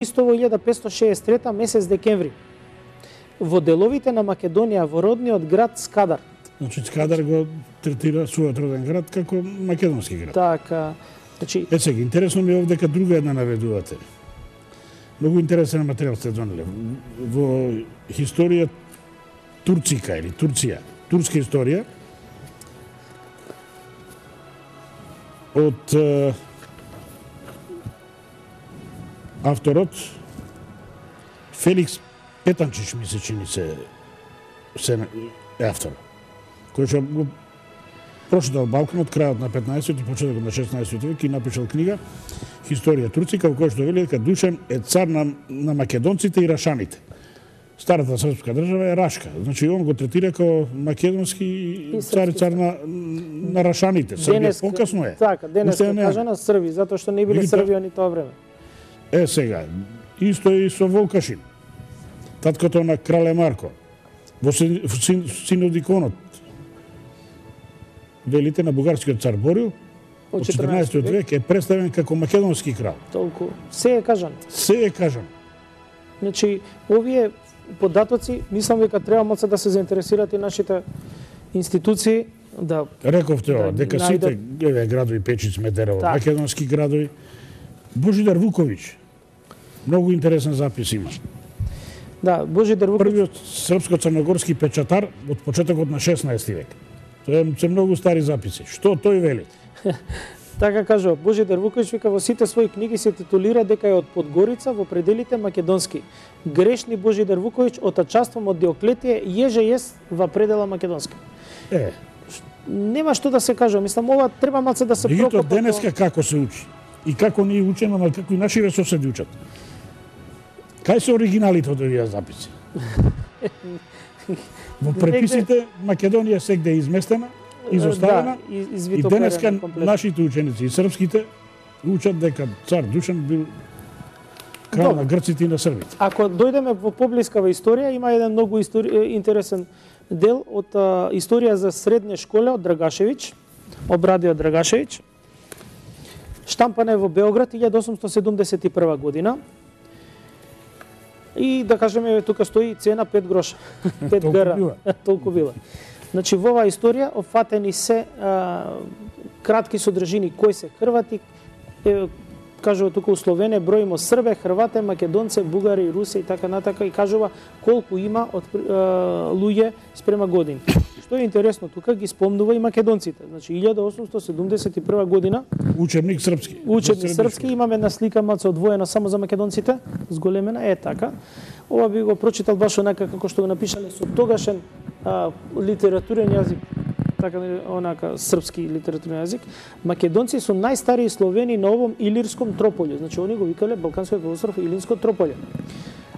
Исто во 1563 месец декември во деловите на Македонија во родниот град Скадар. Значи Скадар го третира својот роден град како македонски град. Така, значи сега интересно ми е овде дека друга една наведувате. Многу интересен материјал сте донеле. Во историја Турцика или Турција, турска историја од авторот Феликс Петанчич ми се чини се автор, кој што го прочитал Балканот крајот на 15-ти и почетокот на 16-ти век и напишал книга Историја Турцика, во која што вели дека Душан е цар на македонците и рашаните. Старата српска држава е Рашка. Значи он го третира како македонски цар на рашаните. Србија покасно е. Така, денес кажа на Срби, затоа што не биле Срби они тоа време. Сега, исто и со Волкашин. Таткото на крале Марко. Во Синодиконот. Велите на бугарскиот цар Борил од 14 век е представен како македонски крал. Толку. Се е кажано. Се е кажано. Значи, овие податоци, мислам дека треба малку да се заинтересираат и нашите институции да рековте ова, дека сите градови Печи, Смедерово, македонски градови. Божидар Вуковиќ. Многу интересен запис има. Да, Божидар Вуковиќ. Првиот српско-црногорски печатар од почетокот на 16 век. Тоа се многу стари записи. Што тој вели? Така кажува, Божидар Вуковиќ вика во сите своји книги се титулира дека е од Подгорица во пределите македонски. Грешни Божидар Вуковиќ отачаством од Диоклетија еже ест во предела македонски. Нема што да се кажува, мислам ова треба малце да се прокопа. Меѓутоа денеска како се учи и како ние учиме, но како и нашите соседи учат. Кај се оригиналите од овие записи? Во преписите Македонија сегде е изместена, изоставена, и денеска нашите ученици и српските учат дека цар Душан бил крал на грците и на србите. Ако дојдеме во поблискава историја, има еден многу интересен дел од историја за средна школа од Драгашевиќ, Обрадио Драгашевиќ. Штампана е во Београд 1871 година. И да кажеме тука стои цена 5 гроша. 5 гра. Толку била. Значи во оваа историја опфатени се кратки содржини кои се хрвати, кажува тука условене бројимо србе, хрвате, македонце, бугари, руси и така натака и кажува колку има од луѓе спрема години. Што е интересно, тука ги спомнува и македонците. Значи 1871 година учебник српски. Учебник српски, имаме една слика малку одвоена само за македонците, зголемена така. Ова би го прочитал баш онака како што го напишале со тогашен литературен јазик, така онака српски литературен јазик. Македонци се најстарии словени на овом илирском трополје. Значи они го викале Балканскиот полуостров Илирско трополје.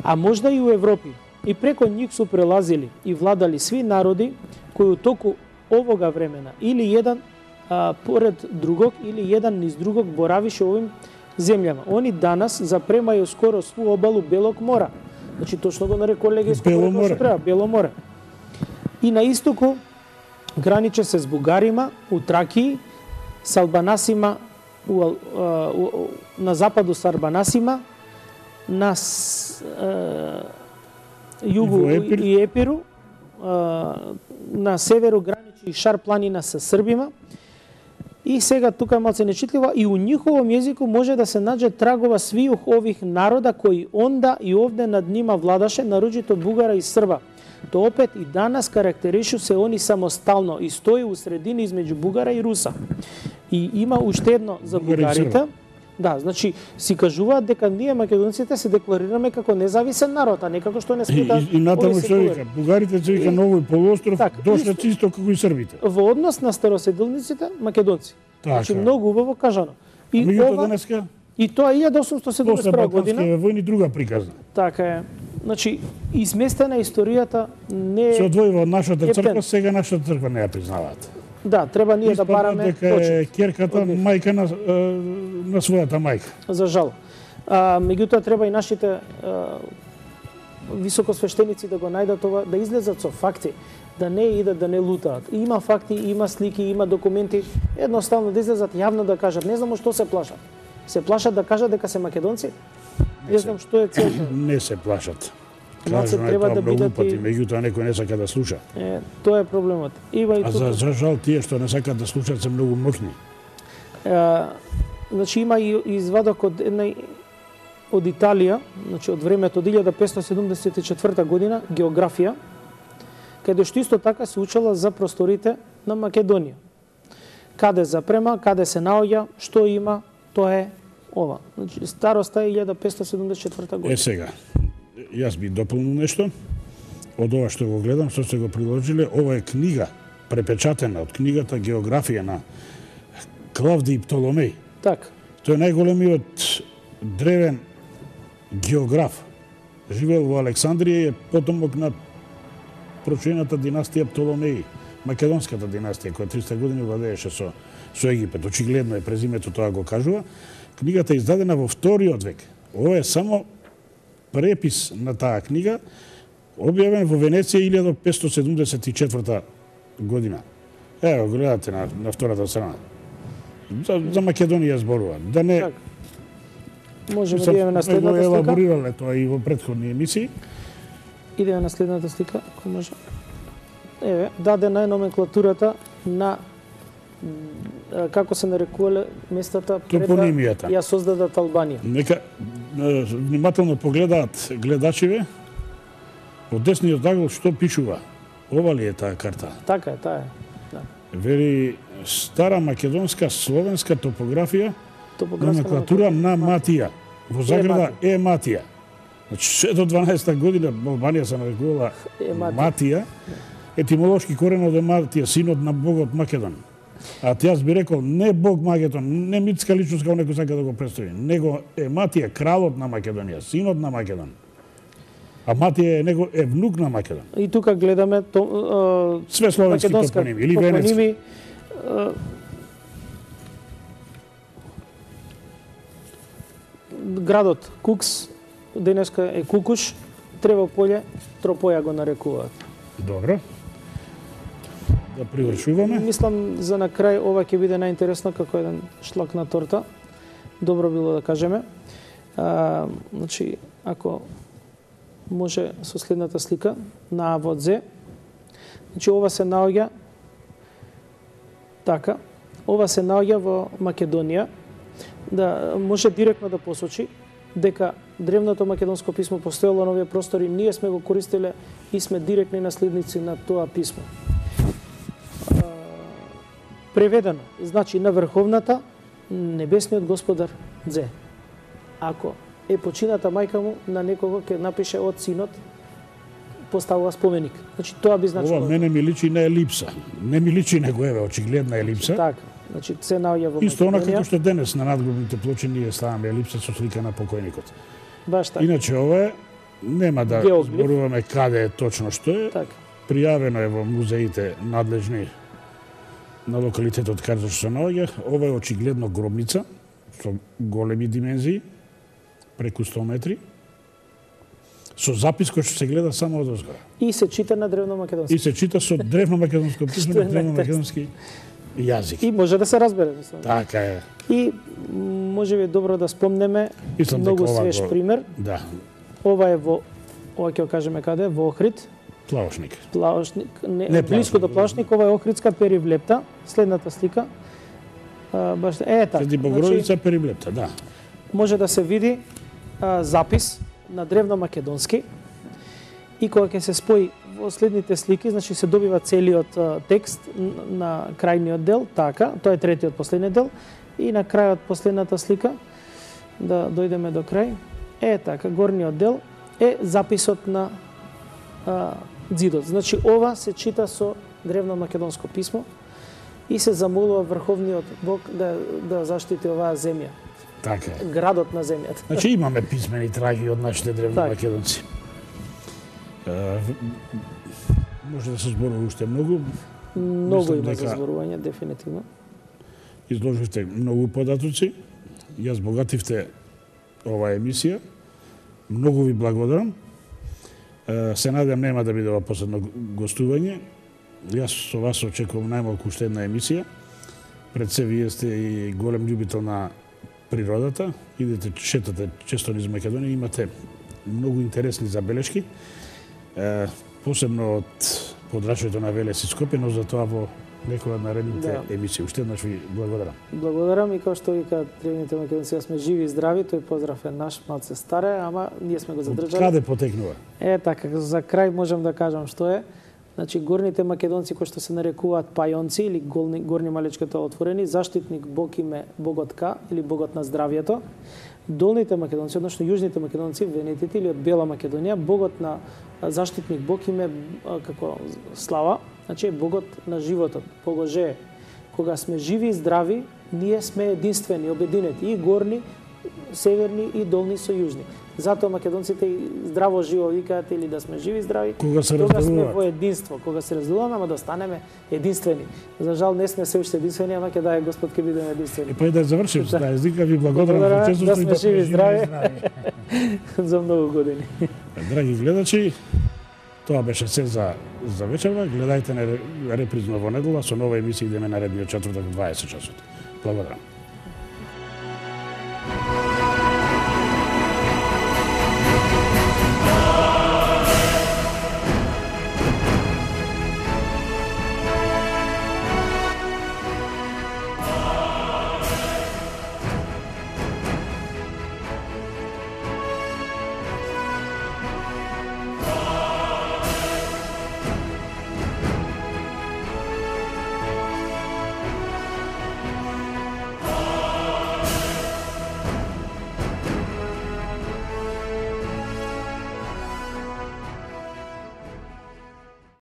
А можда и у Европи. И преко нив су прелазили и владали сви народи кои у току овога времена или еден поред другог или еден низ другог боравише овим земјама. Они данас запремају скоро сву обалу Белог мора. Значи точно го нарекува Легејско море, што треба, Бело море. И на истоку граниче се с бугарима у Тракии, с албанасима на западу с арбанасима, на југу и Епиру, на северу граничи Шар планина со србима. И сега тука е малце нечитливо, и у ниховом јазику може да се наđe трагова свијух ових народа кои онда и овде над нима владаше, нарочито бугара и срба. То опет и данас карактеришу се они самостално и стои у средини измеѓу бугара и руса. И има уште едно за бугарите. Да, значи си кажуваат дека ние македонците се декларираме како независен народ, а не како што не смета. И натаму што вика, бугарите се вика новој полуостров, дошле исто како и србите. Во однос на староседелниците македонци. Значи многу убаво кажано. И ова денеска и тоа 1871 година. После војни друга приказна. Така е. Значи изместена историјата не се одвојува од нашата црква, сега нашата црква не ја признаваат. Да, треба ние да бараме дека е ќерката мајка на својата мајка. За жал. Меѓутоа треба и нашите високосвештеници да го најдат ова, да излезат со факти, да не идат да не лутаат. Има факти, има слики, има документи, едноставно да излезат јавно да кажат, не знамо што се плашат. Се плашат да кажат дека се македонци. Не знам што е целта. Не се плашат. Малце Кажано треба тоа да многу бидат пати, и... меѓутоа некој не сака да слуша. Тоа е проблемот. Има и А тука. за жал тие што не сакаат да слушаат се многу моќни. Значи има и извадок од од Италија, значи од времето од 1574 година, географија, каде што исто така се учела за просторите на Македонија. Каде запрема, каде се наоѓа, што има, тоа е ова. Значи староста е 1574 година. Сега, јас би дополнил нешто. Од ова што го гледам, што се го приложиле, ова е книга препечатена од книгата Географија на Клавдиј Птоломеј. Така. Тој е најголемиот древен географ. Живеел во Александрија и е потомок на прочуената династија Птоломеи, македонската династија која 300 години владееше со Египет. Очигледно е презимето, тоа го кажува. Книгата е издадена во вториот век. Ова е само препис на таа книга, објавен во Венеција 1574 година. Ево, гледате на втората страна. За Македонија зборува. Да не... Так. Можеме да идеме на следната слика. Елаборирале тоа и во претходни емисии. Идеме на следната слика, ако може. Еве, дадена е номенклатурата на како се нарекувале местата пред да ја создадат Албанија. Нека внимателно погледаат гледачиве од десниот агол што пишува. Ова ли е таа карта? Така е, таа е. Да. Вери стара македонска словенска топографија, номенклатура на Матија. Во заграда е Матија. Значи, се до 12-та година Албанија се нарекувала Матија. Етимолошки коренот е Матија, синот на богот Македон. А јас би рекол, не бог Македон, не митска личност како некој сака да го представи, него е Матија, кралот на Македонија, синот на Македон. А Матија е внук на Македон. И тука гледаме све словенски топоними или венецки. Градот Кукс, денеска е Кукуш, Тревополје, Тропоја го нарекуваат. Добро. Да привршуваме. Мислам за на крај ова ќе биде најинтересно како еден шлак на торта. Добро било да кажеме. Значи, ако може со следната слика на А во Зе. Значи ова се наоѓа така. Ова се наоѓа во Македонија. Да може директно да посочи дека древното македонско писмо постоело на овие простори, ние сме го користеле и сме директни наследници на тоа писмо. Преведено, значи на врховната небесниот господар Дзе. Ако е почината мајка му, на некого ќе напише од синот, поставува споменик. Значи тоа би значило. Ова мене ми личи на елипса. Не ми личи него еве очигледна елипса. Така. Значи се наоѓа во Македонија. Исто она како што денес на надгробните плочи ние ставаме елипса со слика на покојникот. Баш така. Иначе ова е, нема да зборуваме каде е точно што е. Така. Пријавено е во музеите надлежни на локалитетот каде што се наоѓа. Ова е очигледно гробница со големи димензии, преку 100 метри, со запис кој што се гледа само од озгора. И се чита на древномакедонски. И се чита со древномакедонско писмо, древномакедонски јазик. И може да се разбере. Така е. И може би добро да спомнеме многу свеж пример. Да. Ова е ова ќе го кажеме каде, во Охрид. Плавошник. Плавошник, не блиску до Плавошник, ова е Охридска Перивлепта. Следната слика. Баш така. Среди Богородица Перивлепта, да. Може да се види запис на древномакедонски и кога ќе се спои во следните слики, значи се добива целиот текст на крајниот дел, така, тоа е третиот последниот дел, и на крајот последната слика, да дојдеме до крај, така, горниот дел е записот на ѕидот. Значи ова се чита со древномакедонско писмо и се замолува врховниот Бог да заштити оваа земја. Така е. Градот на земјата. Значи имаме писмени траги од нашите древномакедонци. Може да се зборува уште многу. Многу има за зборување, дефинитивно. Изложивте многу податоци. Ја збогативте оваа емисија. Многу ви благодарам. Се надевам нема да биде ова последно гостување. Јас со вас очекувам најмалку уште една емисија. Пред се вие сте и голем љубител на природата, идете шетате често низ Македонија, имате многу интересни забелешки, посебно од подрачјето на Велес и Скопје, но за тоа во некоја од наредните емисии. Уште еднаш ви благодарам. Благодарам и како што викаат древните македонци, сме живи и здрави, тој поздрав е наш, малце старе, ама ние сме го задржале. Каде потекнува? Така, за крај можам да кажам што е. Значи, горните македонци, кои што се нарекуваат пајонци или горни малечката отворени, заштитник Бог им е богот Ка или богот на здравјето. Долните македонци, односно јужните македонци, венетите или од Бела Македонија, богот на заштитник Бог им е како Слава, значи богот на животот, Богоже. Кога сме живи и здрави, ние сме единствени, обединети, и горни, северни и долни со јужни. Затоа македонците здраво живо викаат или да сме живи и здрави, кога сме во единство, кога се разделуваме, ама да останеме единствени. За жал не сме се уште единствени, ама ќе дај Господ ќе бидеме единствени. Па и да завршим со таа езика, ви благодарам за честото да сме живи и здрави за многу години. Драги гледачи, тоа беше се за вечерва. Гледајте на репризно во недела со нова емисија, идеме наредниот четвртак во 20 часот. Благодарам.